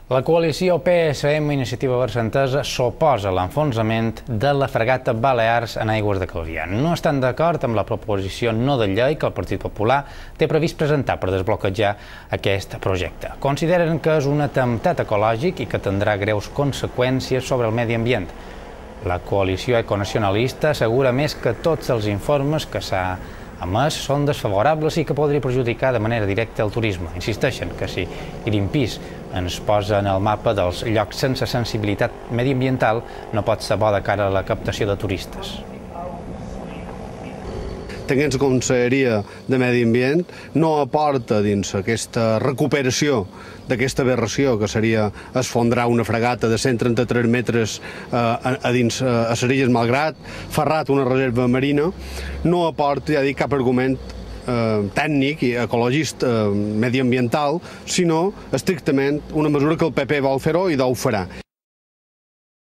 La coalició PSM Iniciativa Barcentesa s'oposa a l'enfonsament de la fragata Balears en aigües de Calvià. No estan d'acord amb la proposició no de llei que el Partit Popular té previst presentar per desbloquejar aquest projecte. Consideren que és un atemptat ecològic i que tindrà greus conseqüències sobre el medi ambient. La coalició econacionalista assegura més que tots els informes que s'ha emès són desfavorables i que podria perjudicar de manera directa el turisme. Insisteixen que si Greenpeace ens posa en el mapa dels llocs sense sensibilitat mediambiental, no pot ser bo de cara a la captació de turistes. Tenint la Conselleria de Medi Ambient no aporta dins aquesta recuperació d'aquesta aberració que seria esfondrar una fragata de 133 metres a dins a les Illes Malgrat, ferrat una reserva marina, no aporta, ja dic, cap argument tècnic i ecologista mediambiental, sinó estrictament una mesura que el PP vol fer-ho i ho farà.